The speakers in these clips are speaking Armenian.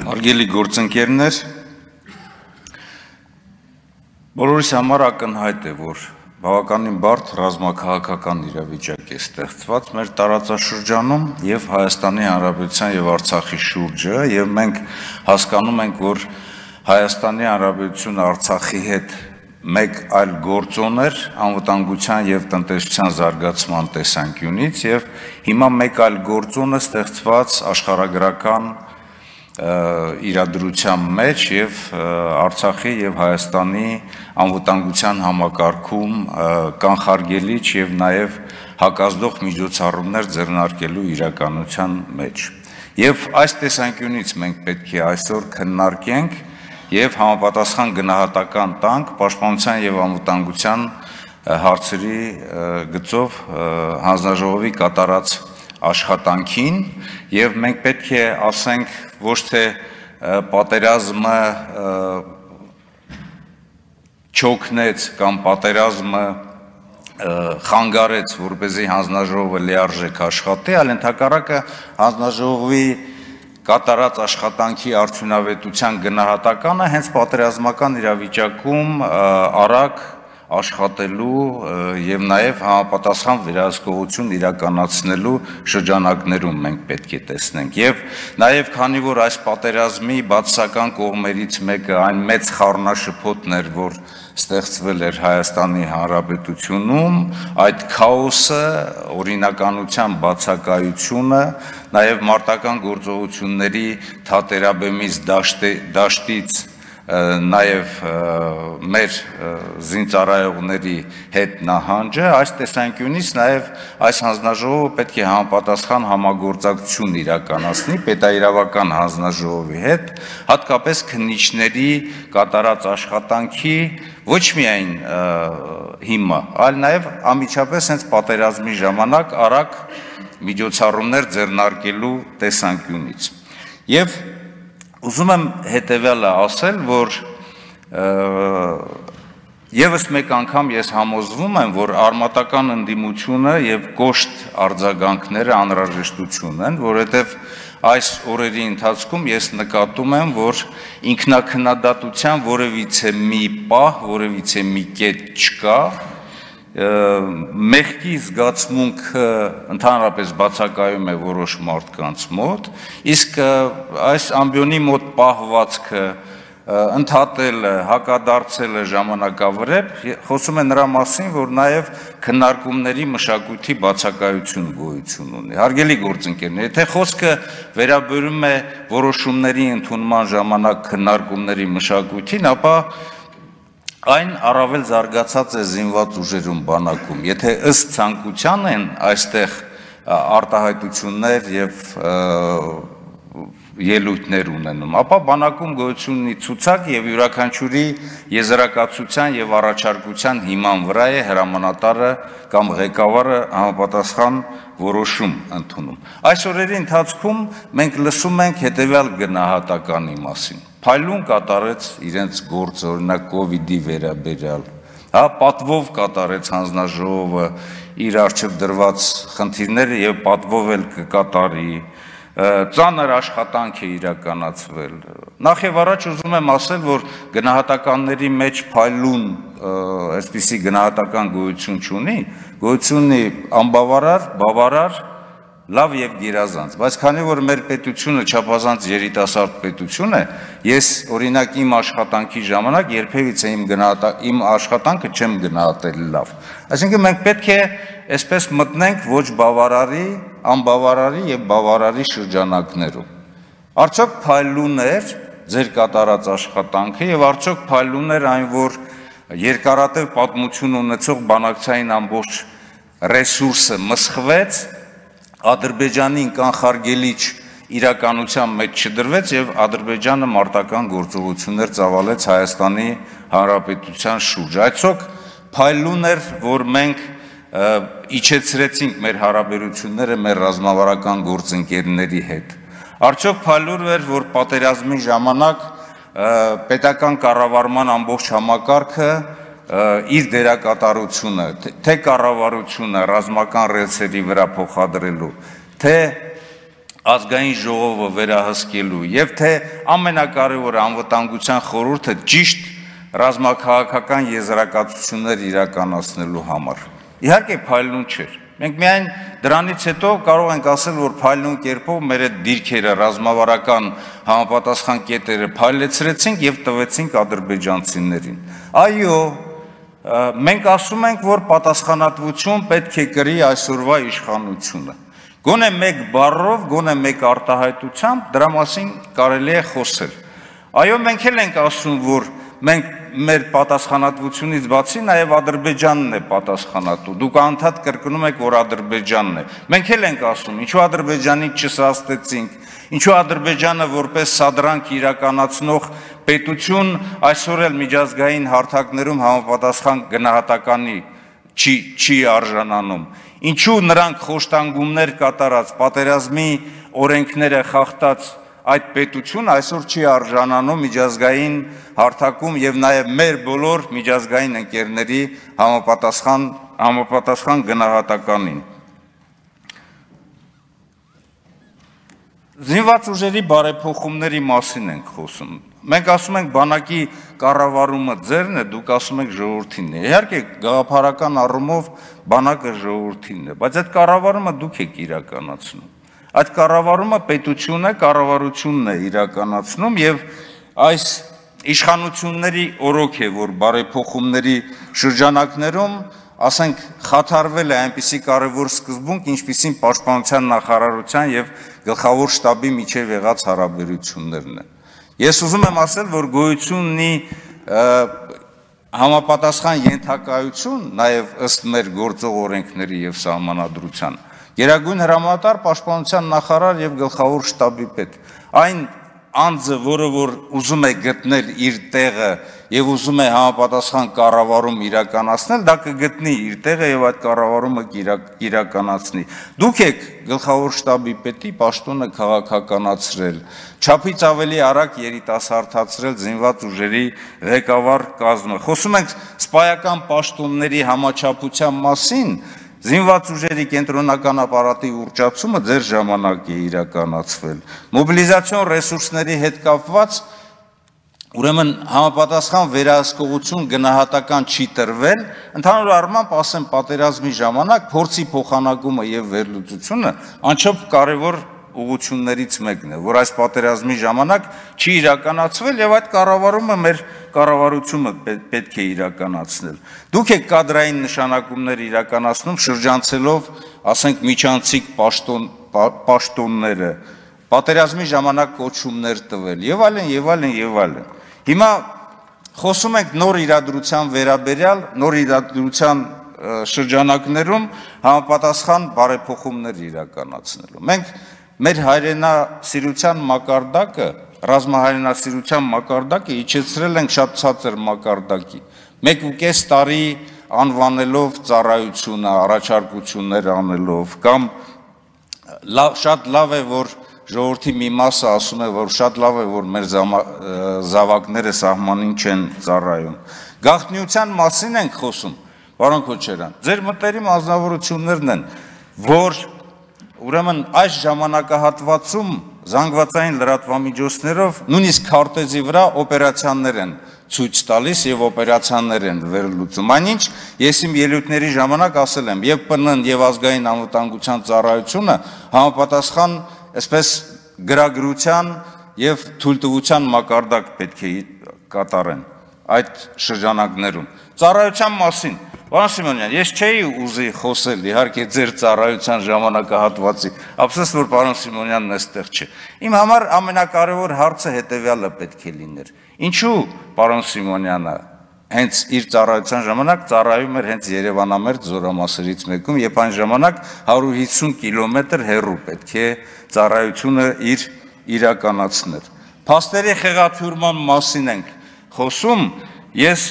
Հարգելի գործընկերներ, բոլորիս համար ակնհայտ է, որ բավականին բարդ ռազմաքաղաքական իրավիճակ է ստեղծված մեր տարածաշրջանում եւ Հայաստանի Հանրապետության եւ Արցախի շուրջը, եւ մենք հասկանում ենք, որ Հայաստանի Հանրապետությունը Արցախի հետ մեկ այլ գործոն էր անվտանգության եւ տնտեսության զարգացման տեսանկյունից եւ հիմա մեկ այլ գործոն է ստեղծված աշխարհագրական իրադրության մեջ եւ Արցախի եւ Հայաստանի անվտանգության համակարգում կանխարգելիչ եւ նաեւ հակազդող միջոցառումներ ձեռնարկելու իրականության մեջ։ Եվ այս տեսանկյունից մենք պետք է այսօր քննարկենք եւ համապատասխան գնահատական տանք պաշտպանության եւ անվտանգության հարցերի գծով հանձնաժողովի կատարած աշխատանքին եւ մենք պետք է ասենք ոչ թե պատերազմը չօգնեց կամ պատերազմը խանգարեց, որպեսզի հանձնաժողովը լիարժեք աշխատի, այլ ընդհակառակը հանձնաժողովի կատարած աշխատանքի արդյունավետության գնահատականը հենց պատերազմական իրավիճակում արագ աշխատելու եւ նաեւ համապատասխան վերահսկողություն իրականացնելու շրջանակներում մենք պետք է տեսնենք եւ նաեւ քանի որ այս պատերազմի բացասական կողմերից մեկը այն մեծ խառնաշփոթն էր, որ ստեղծվել էր Հայաստանի Հանրապետությունում, այդ քաոսը, օրինականության բացակայությունը, նաեւ մարտական գործողությունների թատերաբեմից դաշտից նաև մեր զինծառայողների հետ նահանջը, այս տեսանկյունից նաև այս հանձնաժողովը պետք է համապատասխան համագործակցություն իրականացնի պետաիրավական հանձնաժողովի հետ, հատկապես քննիչների կատարած աշխատանքի ոչ միայն հիմա, այլ նաև անմիջապես հենց պատերազմի ժամանակ արագ միջոցառումներ ձեռնարկելու տեսանկյունից։ Եվ ուզում եմ հետևյալը ասել, որ եւս մեկ անգամ ես համոզվում եմ, որ արմատական ընդդիմությունը եւ կոշտ արձագանքները անհրաժեշտություն են, որովհետեւ այս օրերի ընթացքում ես նկատում եմ, որ ինքնակնադատության որևիցե մի պահ, որևիցե մի կետ չկա, մեղքի զգացմունքը ընդհանրապես բացակայում է որոշ մարդկանց մոտ, իսկ այս ամբիոնի մոտ պահվածքը ընդհատելը, հակադարձելը ժամանակավրեպ խոսում է նրա մասին, որ նաև քննարկումների մշակույթի բացակայություն գոյություն ունի։ Հարգելի գործընկերներ, եթե խոսքը վերաբերում է որոշումների ընդունման ժամանակ քննարկումների մշակույթին, ապա այն առավել զարգացած է զինված ուժերում բանակում, եթե ըստ ցանկության են այստեղ արտահայտություններ եւ ելույթներ ունենում, ապա բանակում գոյություն ունի ցուցակ եւ յուրաքանչյուրի եզրակացության եւ առաջարկության հիման վրա է հրամանատարը կամ ղեկավարը համապատասխան որոշում ընդունում։ Այս օրերի ընթացքում մենք լսում ենք հետեւյալ գնահատականի մասին։ Փայլուն կատարեց իրենց գործը, օրինակ կոവിഡ്ի վերաբերյալ, պատվով կատարեց հանձնաժողովը իր արժեվ դրված խնդիրները եւ պատվով էլ կկատարի, ծանր աշխատանք է իրականացվել։ Նախ եւ առաջ ուզում եմ ասել, որ գնահատականների մեջ փայլուն այսպիսի գնահատական գոյություն չունի, գոյություն ունի անբավարար, բավարար, լավ եւ գերազանց, բայց քանի որ մեր պետությունը չափազանց երիտասարդ պետություն է, ես օրինակ իմ աշխատանքի ժամանակ երբևիցե իմ աշխատանքը չեմ գնահատել լավ։ Այսինքն մենք պետք է այսպես մտնենք ոչ բավարարի, անբավարարի եւ բավարարի շրջանակներում։ Արդյոք փայլուն էր ձեր կատարած աշխատանքը եւ արդյոք փայլուն էր այն, որ երկարատև պատմություն ունեցող բանակցային ամբողջ ռեսուրսը մսխվեց, Ադրբեջանին կանխարգելիչ իրականության մեջ չդրվեց եւ Ադրբեջանը մարտական գործողություններ ծավալեց Հայաստանի Հանրապետության շուրջ։ Այսօք փայլուն էր, որ մենք իջեցրեցինք մեր հարաբերությունները մեր ռազմավարական գործընկերների հետ։ Արդյոք փայլուն էր, որ պատերազմի ժամանակ պետական կառավարման ամբողջ համակարգը իր դերակատարությունը, թե կառավարությունը ռազմական ռելսերի վրա փոխադրելու, թե ազգային ժողովը վերահսկելու եւ թե ամենակարևորը անվտանգության խորհուրդը ճիշտ ռազմաքաղաքական եզրակացություններ իրականացնելու համար։ Իհարկե փայլուն չէր։ Մենք միայն դրանից հետո կարող ենք ասել, որ փայլուն կերպով մեր այդ դիրքերը ռազմավարական համապատասխան կետերը փայլեցրեցինք եւ տվեցինք ադրբեջանցիներին։ Այո, մենք ասում ենք, որ պատասխանատվություն պետք է կրի այսօրվա իշխանությունը։ Գոնե մեկ բառով, գոնե մեկ արտահայտությամբ դրա մասին կարելի է խոսել։ Այո, մենք էլ ենք ասում, որ մենք մեր պատասխանատվությունից բացի նաև Ադրբեջանն է պատասխանատու։ Դուք անդադ կրկնում եք, որ Ադրբեջանն է։ Մենք էլ ենք ասում, ինչու Ադրբեջանից չսաստեցինք, ինչու Ադրբեջանը որպես սադրանք իրականացնող պետություն այսօր էլ միջազգային հարթակներում համապատասխան գնահատականի չի արժանանում։ Ինչու նրանք խոշտանգումներ կատարած, պատերազմի օրենքները խախտած այդ պետությունը այսօր չի արժանանում միջազգային հարթակում եւ նաեւ մեր բոլոր միջազգային ընկերների համապատասխան գնահատականին։ Զինված ուժերի բարեփոխումների մասին ենք խոսում։ Մենք ասում ենք բանակի կառավարումը ձերն է, դուք ասում եք ժողովրդինն է։ Իհարկե գաղափարական առումով բանակը ժողովրդինն է, բայց այդ կառավարումը դուք եք իրականացնում։ Այդ կառավարումը պետությունը, կառավարությունն է իրականացնում եւ այս իշխանությունների օրոք է, որ բարեփոխումների շրջանակներում, ասենք, խաթարվել է այնպիսի կարևոր սկզբունք, ինչպիսին պաշտպանության նախարարության եւ գլխավոր շտաբի միջև եղած հարաբերություններն են։ Ես ուզում եմ ասել, որ գոյություն ունի համապատասխան ենթակայություն, նաեւ ըստ մեր գործող օրենքների եւ սահմանադրության, Գերագույն հրամանատար, պաշտպանության նախարար եւ գլխավոր շտաբի պետ։ Այն անձը, որը որ ուզում է գտնել իր տեղը եւ ուզում է համապատասխան կառավարում իրականացնել, դա կգտնի իր տեղը եւ այդ կառավարումը իրականացնի։ Դուք եք գլխավոր շտաբի պետի պաշտոնը քաղաքականացրել, չափից ավելի արագ երիտասարդացրել զինված ուժերի ղեկավար կազմը։ Խոսում ենք սպայական պաշտոնների համաչափության մասին։ Զինված ուժերի կենտրոնական ապարատի ուռճացումը ձեր ժամանակ է իրականացվել։ Մոբիլիզացիոն ռեսուրսների հետ կապված ուրեմն համապատասխան վերահսկողություն գնահատական չի տրվել, ընդհանուր առմամբ ասեմ պատերազմի ժամանակ փորձի փոխանակումը եւ վերլուծությունը անչափ կարեւոր ուղղություններից մեկն է, որ այս պատերազմի ժամանակ չի իրականացվել եւ այդ կառավարումը մեր կառավարությունը պետք է իրականացնել։ Դուք եք կադրային նշանակումներ իրականացնում շրջանցելով, ասենք, միջանցիկ պաշտոնները, պատերազմի ժամանակ կոչումներ տվել եւ այլն եւ այլն եւ այլն։ Հիմա խոսում ենք նոր իրադրության վերաբերյալ, նոր իրադրության շրջանակներում համապատասխան բարեփոխումներ իրականացնելու։ Մենք մեր հայրենասիրության մակարդակը, ռազմահայրենասիրության մակարդակը իջեցրել ենք շատ ցածր մակարդակի։ 1.5 տարի անվանելով ծառայությունը, առաջարկություններ անելով, կամ շատ լավ է, որ ժողովրդի մի մասը ասում է, որ շատ լավ է, որ մեր զավակները սահմանին չեն ծառայում։ Գաղտնիության մասին ենք խոսում, պարոն Քոչարյան, ձեր մտերիմ անձնավորություններն են, որ ուրեմն այս ժամանակահատվածում զանգվածային լրատվամիջոցներով նույնիսկ քարտեզի վրա օպերացիաներ են ցույց տալիս եւ օպերացիաներ են վերլուծում։ Այնինչ ես իմ ելույթների ժամանակ ասել եմ, եւ ՊՆ-ն եւ ազգային անվտանգության ծառայությունը համապատասխան այսպես գրագրության եւ թույլտվության մակարդակ պետք է կատարեն այդ շրջանակներում։ Ծառայության մասին Պարոն Սիմոնյան, ես չէի ուզի խոսել, իհարկե ձեր ծառայության ժամանակահատվածի, ափսոս որ պարոն Սիմոնյանն այստեղ չէ։ Իմ համար ամենակարևոր հարցը հետևյալը պետք է լիներ։ Ինչու պարոն Սիմոնյանը հենց իր ծառայության ժամանակ ծառայում էր հենց Երևանամերձ զորամասերից մեկում, եւ այն ժամանակ 150 կիլոմետր հեռու պետք է ծառայությունը իր իրականացներ։ Փաստերի խեղաթյուրման մասին ենք խոսում, ես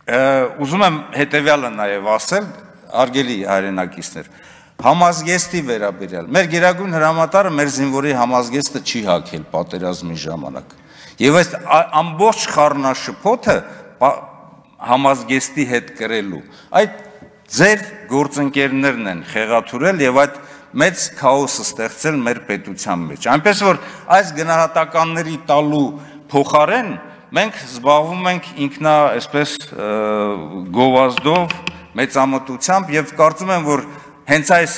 ուզում եմ հետևյալը նաև ասել, արգելի հայրենակիցներ, համազգեստի վերաբերյալ։ Մեր գերագույն հրամանատարը մեր զինվորի համազգեստը չի հագել պատերազմի ժամանակ։ Եվ այս ամբողջ խառնաշփոթը համազգեստի հետ կրելու։ Այդ ձեր գործընկերներն են խեղաթյուրել եւ այդ մեծ քաոս ստեղծել մեր պետության մեջ։ Այնպես որ այս գնահատականների տալու փոխարեն մենք զբաղվում ենք ինքնա այսպես գովազդով, մեծամտությամբ եւ կարծում եմ, որ հենց այս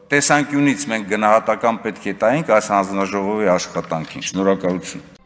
տեսանկյունից մենք գնահատական պետք է տայինք այս հանձնաժողովի աշխատանքին։ Շնորհակալություն։